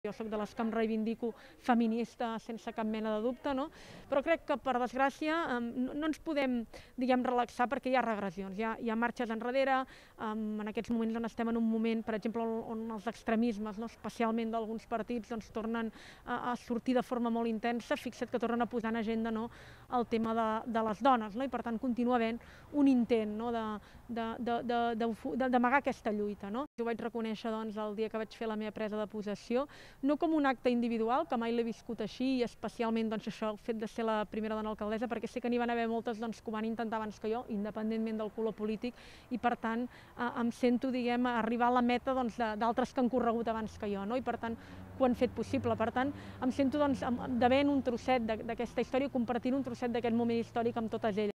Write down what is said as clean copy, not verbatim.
Jo soc de les que em reivindico feminista sense cap mena de dubte, no? Però crec que, per desgràcia, no ens podem, relaxar perquè hi ha regressions, hi ha marxes enrere, en aquests moments on estem en un moment, per exemple, on els extremismes, no? Especialment d'alguns partits, doncs, tornen a sortir de forma molt intensa. Fixa't que tornen a posar en agenda, no, el tema de les dones, no? I per tant continua havent un intent, no, d'amagar aquesta lluita, no? Jo vaig reconèixer, doncs, el dia que vaig fer la meva presa de possessió, no com un acte individual, que mai l'he viscut així, i especialment, doncs, això, el fet de ser la primera dona alcaldessa, perquè sé que n'hi van haver moltes, doncs, que ho van intentar abans que jo, independentment del color polític, i per tant em sento, arribar a la meta, doncs, d'altres que han corregut abans que jo, no? I per tant ho han fet possible. Per tant, em sento, doncs, devent un trosset d'aquesta història, compartint un trosset d'aquest moment històric amb totes elles.